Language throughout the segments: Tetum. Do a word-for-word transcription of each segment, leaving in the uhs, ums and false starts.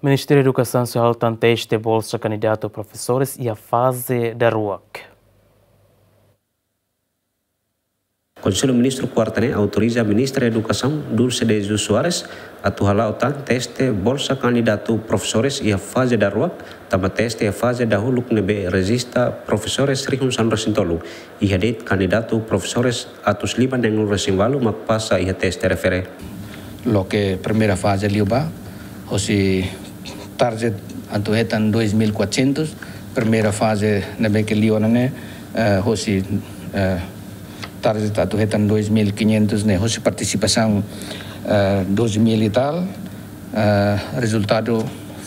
Ministériu Edukasaun sei halo tan teste bolsa kandidatu profesores iha faze daruak. Konsellu Ministru kuarta ne'e autoriza Ministra Edukasaun, Dulce de Jesus Soares, atu hala'o tan teste bolsa kandidatu profesores iha faze daruak, tanba teste iha faze dahuluk ne'ebé rejista profesores rihun sanulu-resin-tolu, iha de'it kandidatu profesores atus lima neenulu-resin-ualu mak pasa iha teste refere. Loke primeira faze liu ba, hosi target atu hetan dois mil e quatrocentos, primeira faze ne'ebé ke liu ona ne'e, eh, hosi, eh, target atu hetan dois mil e quinhentos ne'e, hosi partisipasaun, eh, dois mil e tal, eh, rezultadu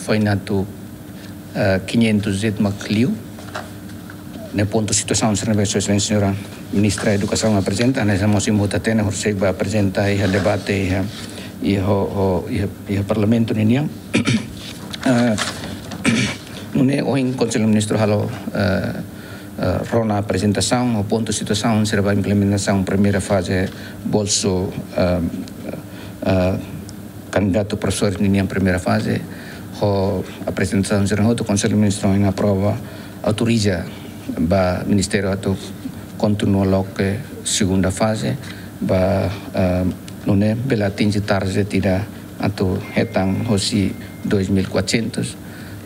foin atu, eh, quinhentos e tal mak liu. Ne'e pontu situasaun sira ne'ebé Sua Exelénsia Señora Ministra Edukasaun aprezenta, ne'e mós imi hotu hatene, horisehik bá aprezenta iha debate iha, iha, ho, ho, iha, iha Parlamentu ninian. Eh, nune'e ohin Konsellu Ministru halo, eh, eh, rona aprezentasaun, ho pontu situasaun sira ba implementasaun primeira faze bolsu, eh, eh, kandidatu profesores ninian primeira faze, ho aprezentasaun sira hotu Konsellu Ministru aprova, autoriza ba Ministériu atu kontinua loke segunda faze, ba, eh, nune'e bele atinje target ida atu hetan hosi dois mil e quatrocentos,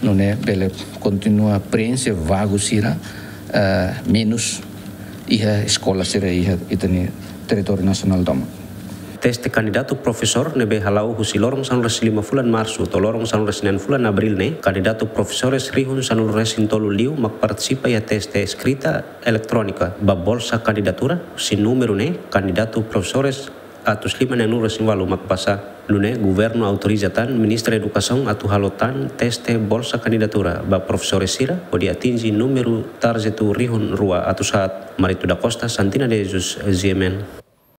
nune'e bele kontinua preenxe vaga sira, eh, menus iha eskola sira iha ita-nia territóriu nasionál tomak. Teste kandidatu profesór ne'ebé hala'o husi loron sanulu-resin-lima fulan Marsu to'o loron sanulu-resin-neen fulan Abríl ne'e, kandidatu profesores rihun sanulu-resin-tolu liu mak partisipa iha teste eskrita eletrónika ba bolsa kandidatura, husi númeru ne'e kandidatu profesores atus lima neenulu-resin-ualu mak pasa. Nune'e governu autoriza tan Ministra Edukasaun atu halo tan teste bolsa kandidatura ba profesores sira hodi atinje númeru target rihun rua atus haat. Marito da Costa, Santina de Jesus, G M N.